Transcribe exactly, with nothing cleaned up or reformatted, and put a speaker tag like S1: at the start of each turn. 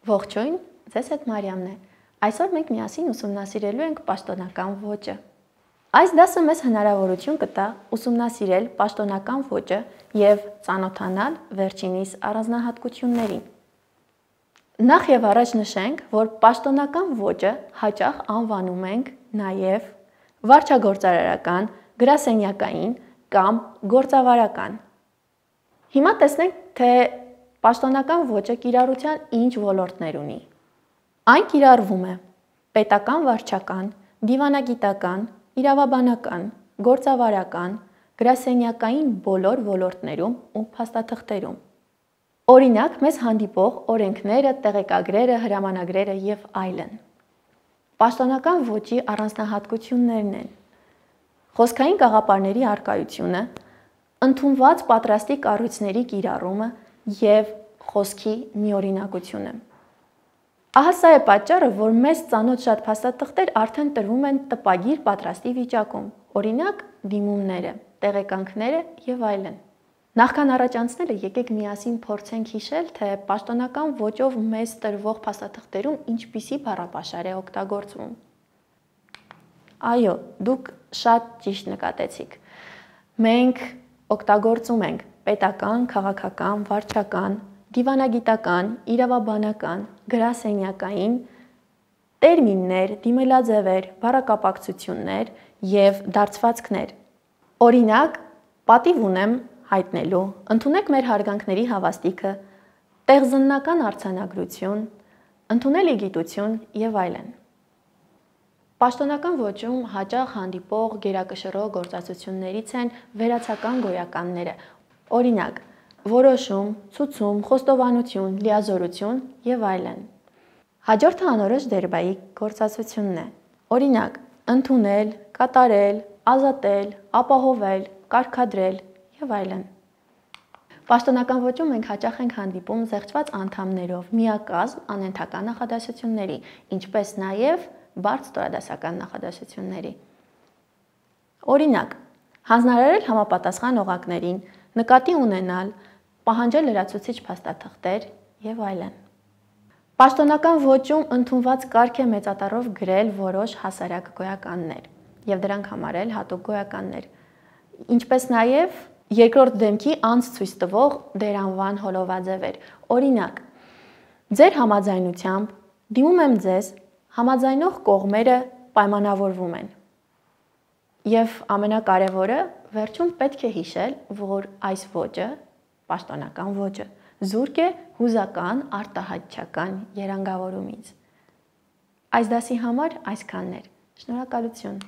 S1: Ողջույն, ձեզ հետ Մարիամն է։ Այսօր մենք միասին ուսումնասիրելու ենք պաշտոնական ոճը։ Այս դասը մեզ հնարավորություն կտա ուսումնասիրել պաշտոնական ոճը եւ ծանոթանալ վերջինիս առանձնահատկություններին։ Նախ եւ առաջ նշենք, որ պաշտոնական ոճը հաճախ անվանում ենք նաեւ վարչագործարարական, գրասենյակային կամ գործավարական։ Հիմա տեսնենք, թե պաշտոնական ոճը կիրառության ինչ ոլորտներ ունի։ Այն կիրառվում է պետական վարչական, դիվանագիտական, իրավաբանական, գործավարական, գրասենյակային բոլոր ոլորտներում ու փաստաթղթերում։ Օրինակ, մեզ հանդիպող օրենքները, տեղեկագրերը, հրամանագրերը եւ այլն։ Պաշտոնական ոճի առանձնահատկություններն են. խոսքային գաղափարների առկայությունը, ընդունված պատրաստի կառույցների կիրառումը եւ խոսքի միօրինակությունը։ Ահա սա է պատճառը, որ մեզ ծանոթ շատ փաստաթղթեր արդեն տրվում են տպագիր պատրաստի վիճակում, օրինակ դիմումները, տեղեկանքները եւ այլն։ Նախքան առաջ անցնելը եկեք միասին փորձենք հիշել, թե պաշտոնական ոճով մեզ տրվող փաստաթղթերում ինչպիսի բառապաշար է օգտագործվում։ Այո, դուք շատ ճիշտ նկատեցիք։ Մենք օգտագործում ենք պետական, քաղաքական, վարչական, դիվանագիտական, իրավաբանական, գրասենյակային տերմիններ, դիմելաձևեր, բառակապակցություններ եւ դարձվածքներ։ Օրինակ, պատիվ ունեմ հայտնելու, ընդունեք մեր հարգանքների հավաստիքը, տեղզննական արձանագրություն, ընդունելի գիտություն եւ այլն։ Պաշտոնական ոճում հաճախ հանդիպող գերակշռող գործածություններից են վերացական գոյականները, օրինակ, որոշում, ցուցում, խոստովանություն, լիազորություն եւ այլն։ Հաջորդը անորոշ դերբայի գործածությունն է, օրինակ, ընդունել, կատարել, ազատել, ապահովել, կարգադրել եւ այլն։ Պաշտոնական ոճում մենք հաճախ ենք հանդիպում զեղչված անդամներով միակազմ անհերթական նախադասությունների, ինչպես նաեւ բարդ ստորադասական նախադասությունների։ Օրինակ, հանձնարարել համապատասխան օղակներին, նկատի ունենալ, պահանջել լրացուցիչ փաստաթղթեր եւ այլն։ Պաշտոնական ոճում ընդունված կարգ է մեծատառով գրել որոշ հասարակ գոյականներ եւ դրանք համարել հատուկ գոյականներ, ինչպես նաեւ երկրորդ դեմքի անց ցույց տվող դերանվան հոլովաձևեր։ Օրինակ, ձեր համաձայնությամբ դիմում եմ ձեզ, համաձայնող կողմերը պայմանավորվում են։ Եվ ամենակարևորը, վերջում պետք է հիշել, որ այս ոճը, պաշտոնական ոճը, զուրկ է հուզական արտահայտչական երանգավորումից։ Այս դասի համար այսքանն էր։ Շնորհակալություն։